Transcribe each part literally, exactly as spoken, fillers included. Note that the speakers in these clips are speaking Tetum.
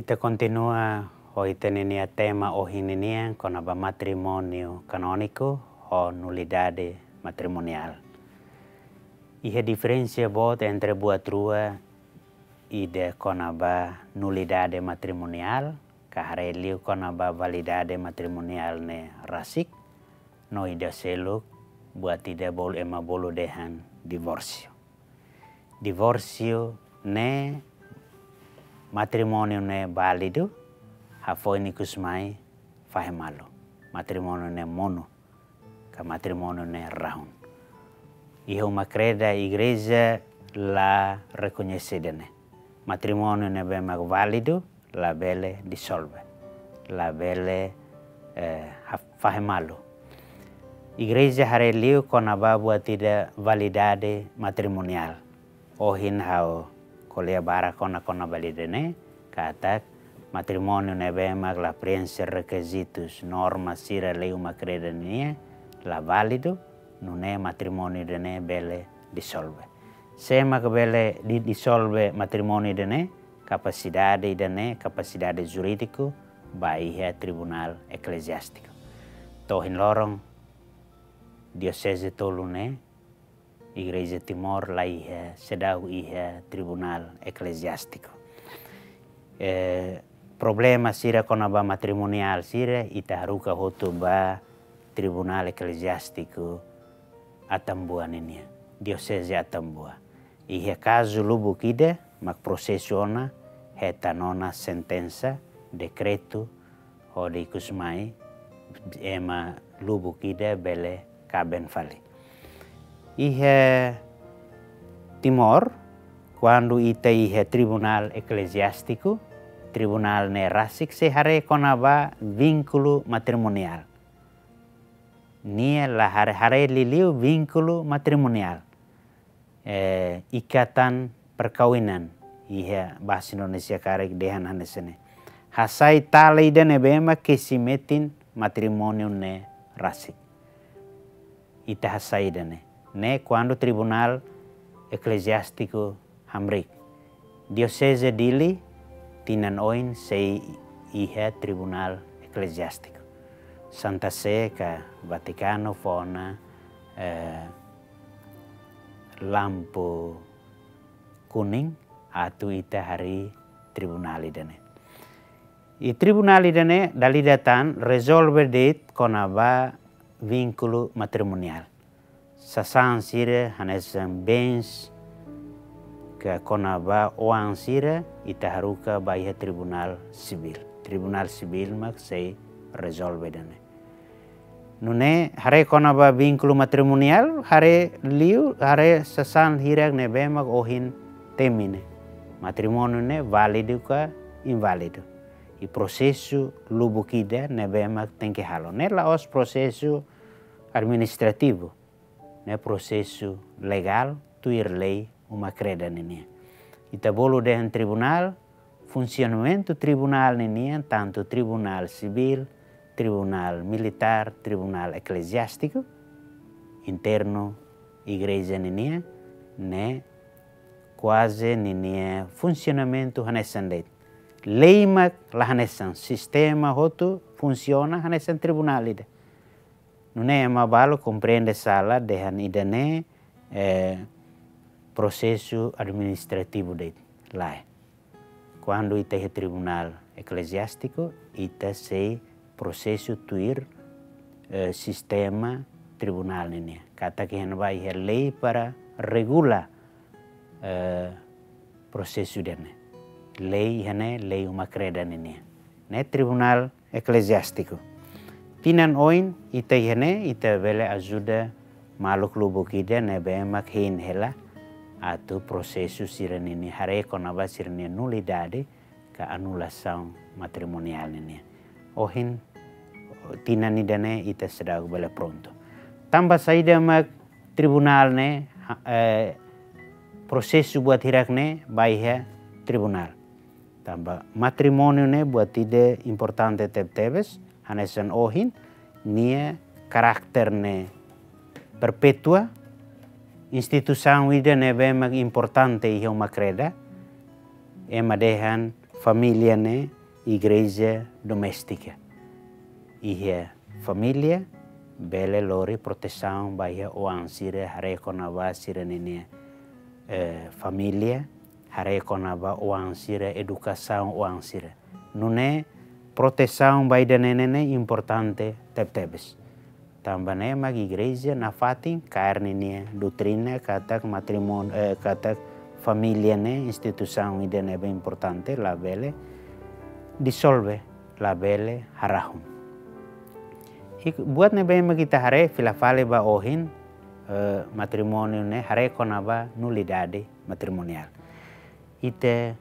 Ita kontinua ho ita-nia tema ohin ninian kona-ba matrimóniu kanóniku ho nulidade matrimoniál. Iha diferensa boot entre buat rua, ida kona-ba nulidade matrimoniál, ka haree liu kona-ba validade matrimoniál ne'e rasik, no ida seluk buat ida bolu ema bolu dehan divórsiu. Divórsiu ne'e matrimóniu ne'e válidu, hafoin ikus mai fahe malu. Matrimóniu ne'e monu, ka matrimóniu ne'e rahun. Iha uma kreda igreja la rekoñese ida-ne'e. Matrimóniu ne'ebé mak válidu, labele disolve, labele, eh, ha-, fahe malu. Igreja haree liu kona-ba buat ida validade matrimoniál. Ohin ha'u ko'alia barak ona kona-ba ida-ne'e, katak matrimóniu ne'ebé mak la preenxe rekizitus, norma sira lei uma kreda nian, la válidu, nune'e matrimóniu ida-ne'e bele disolve. Sé mak bele di-, disolve matrimóniu ida-ne'e? Kapasidade ida-ne'e, kapasidade jurídiku ba iha tribunál ekleziástiku. To'o ohin loron, dioseze tolu ne'e, Igreja Timor la iha, seidauk iha tribunál ekleziástiku. Eh, problema sira kona-ba matrimoniál sira, ita haruka hotu ba tribunál ekleziástiku Atambua ninian, dioseze Atambua. Iha kazu lubuk ida mak prosesu ona, hetan ona sentensa, dekretu, hodi ikus mai ema lubuk ida bele kaben fali. Iha Timor, kuandu ita iha tribunál ekleziástiku, tribunál ne'e rasik sei haree kona-ba vínkulu matrimoniál. Nia la haree, haree liuliu vínkulu matrimoniál. Eh, ikatan perkawinan. Iha bahasa Indonesia karik dehan hanesan ne'e. Hasai tala ida ne'ebé mak kesi metin matrimóniu ne'e rasik. Ita hasai ida-ne'e. Ne'e kuandu tribunál ekleziástiku hamriik. Dioseze Dili tinan oin sei iha tribunál ekleziástiku. Santa Sé ka Vatikanu fó ona, eh, lampu kuning atu ita harii tribunál ida-ne'e. I tribunál ida-ne'e dala ida tan rezolve de'it kona-ba vínkulu matrimoniál. Sasán sira hanesan bens ka kona-ba oan sira ita haruka ba iha tribunál sivíl. Tribunál sivíl mak sei rezolve ida-ne'e. Nune'e haree kona-ba vínkulu matrimoniál, haree liu, haree sasán hirak ne'ebé mak ohin temi ne'e. Matrimóniu ne'e válidu ka inválidu. I prosesu lubuk ida ne'ebé mak tenke halo. Ne'e la'ós prosesu administrativu. Ne'e prosesu legál, tuir lei uma kreda ninian. Ita bolu dehan tribunál, funsionamentu tribunál ninian, tantu tribunál sivíl, tribunál militár, tribunál ekleziástiku, internu igreja ninian, ne'e kuaze ninia funsionamentu hanesan de'it. Lei mak la hanesan, sistema hotu funsiona hanesan tribunál ida. Nune'e ema balu komprende sala dehan ida-ne'e, eh, prosesu administrativu de'it. Lae. Kuandu ita iha tribunál ekleziástiku, ita sei prosesu tuir, eh, sistema tribunál ninian. Katak iha ne'ebá iha lei para regula, eh, prosesu ida-ne'e. Lei iha ne'e, lei uma kreda ninian. Ne'e tribunál ekleziástiku. Tinan oin ita iha ne'e, ita bele ajuda maluk lubuk ida ne'ebé mak hein hela atu prosesu sira-ninia haree kona-ba sira-nia nulidade ka anulasaun matrimoniál ninian. Ohin, tinan ida-ne'e ita seidauk bele prontu. Tanba saida mak tribunál ne'e, ha-, eh, prosesu buat hirak ne'e ba iha tribunál? Tanba matrimóniu ne'e buat ida importante tebetebes, hanesan ohin, nia karakter ne'e perpétua, instituisaun ida ne'ebé mak importante iha uma kreda, ema dehan Família ne'e igreja doméstika. Iha família bele lori protesaun ba iha oan sira, haree kona-ba sira-ninia, eh, família, haree kona-ba oan sira, edukasaun oan sira. Nune'e protesaun ba ida-ne'e ne'e importante tebetebes. Tanba ne'e mak igreja nafatin kaer ninia doutrina katak matrimóniu, eh, katak família ne'e instituisaun ida ne'ebé importante, labele disolve, labele harahun. I buat ne'ebé mak ita haree fila fali ba ohin, eh, matrimóniu ne'e haree kona-ba nulidade matrimoniál. Ita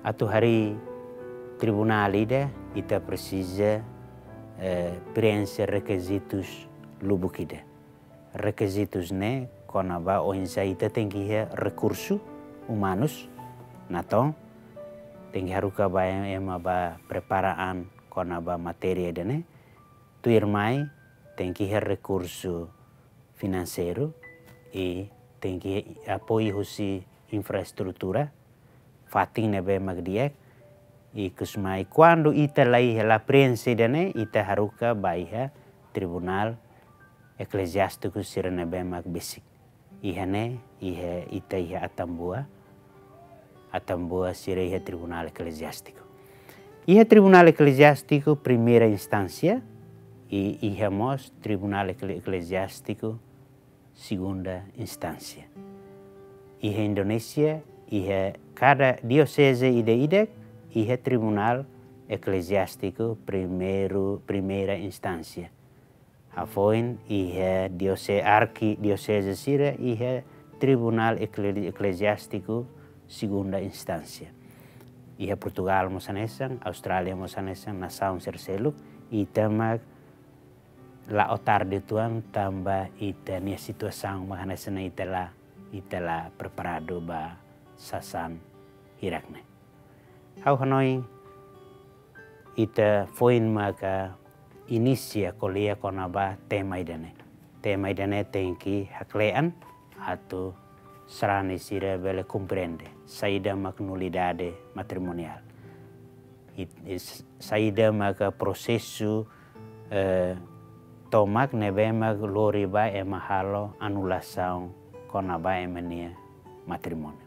atu harii tribunál ida, ita presiza, eh, preenxe rekizitus lubuk ida. Rekizitus ne'e kona-ba oinsá ita tenke iha rekursu umanus, natoon, tenke haruka ba ema ba prepara an kona-ba matéria ida-ne'e, tuirmai tenke iha rekursu finanseiru, i tenke apoiu husi infraestrutura, fatin ne'ebé mak di'ak, i ikus mai kuandu ita la iha, la preenxe ida-ne'e, ita haruka ba iha tribunál ekleziástiku sira ne'ebé mak besik. Iha ne'e, iha ita iha Atambua, Atambua sira iha tribunál ekleziástiku. Iha tribunál ekleziástiku primeira instánsia, i iha mós tribunál ekle-, ekleziástiku segunda instánsia. Iha Indonézia, iha kada dioseze ida-idak, iha tribunál ekleziástiku primeiru, primeira instánsia. Hafoin iha diose-, arkidioseze sira iha tribunál ekle-, ekleziástiku segunda instánsia. Iha Portugal mós hanesan, Austrália mós hanesan, nasaun sira seluk, ita mak la'o tarde uitoan tanba ita-nia situasaun mak hanesan ne'e, ita la, ita la preparadu ba sasán hirak ne'e. Ha'u hanoin ita foin maka inisia ko'alia kona-ba tema ida-ne'e. Tema ida-ne'e tenke hakle'an atu sarani sira bele komprende saida mak nulidade matrimoniál. It-, is-, saida maka prosesu, eh, tomak ne'ebé mak lori ba ema halo anulasaun kona-ba ema nia matrimóniu.